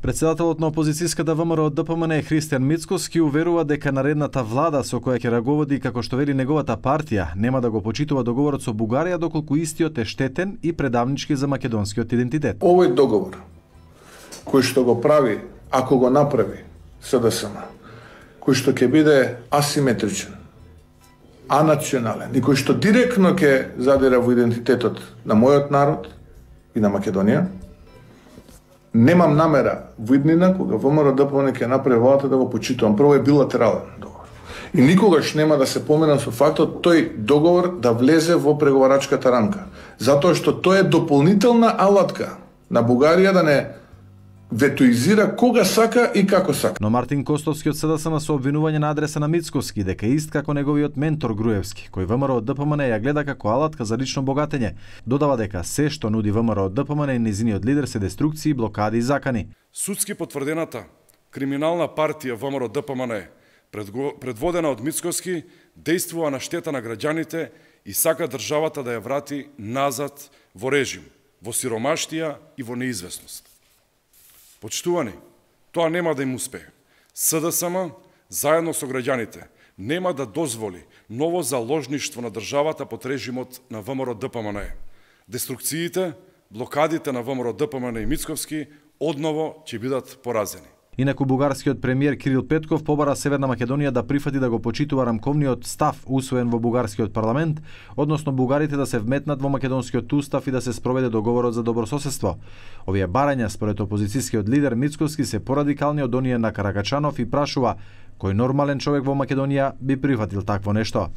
Председателот на опозицијската ВМРО ДПМН Христијан Мицкоски уверува дека наредната влада со која ќе раговоди, како што вели неговата партија, нема да го почитува договорот со Бугарија доколку истиот е штетен и предавнички за македонскиот идентитет. Овој договор кој што го прави, ако го направи СДСМ, кој што ќе биде асиметричен, анационален и кој што директно ќе задира во идентитетот на мојот народ и на Македонија, немам намера во иднина кога ВМРО ДПМН ќе направи владата да го почитувам. Прво е билатерален договор. И никогаш нема да се помина со фактот тој договор да влезе во преговарачката рамка, затоа што тој е дополнителна алатка на Бугарија да не ветоизира кога сака и како сака. Но Мартин Костовски од СДСМ со обвинување на адреса на Мицкоски дека ист како неговиот ментор Груевски, кој ВМРО ДПМН ја гледа како алатка за лично богатење, додава дека се што нуди ВМРО ДПМН и низиниот лидер се деструкции, блокади и закани. Судски потврдената криминална партија ВМРО ДПМН, предводена од Мицкоски, действува на штета на граѓаните и сака државата да ја врати назад во режим, во сиромаштија и во неизвестност. Почитувани, тоа нема да им успее. СДСМ, заедно со граѓаните, нема да дозволи ново заложништво на државата под режимот на ВМРО ДПМН. Деструкциите, блокадите на ВМРО ДПМН и Мицкоски одново ќе бидат поразени. Инаку бугарскиот премиер Кирил Петков побара Северна Македонија да прифати да го почитува рамковниот став усвоен во бугарскиот парламент, односно бугарите да се вметнат во македонскиот устав и да се спроведе договорот за добрососедство. Овие барања според опозицијскиот лидер Мицкоски се порадикални од оние на Каракачанов и прашува кој нормален човек во Македонија би прифатил такво нешто.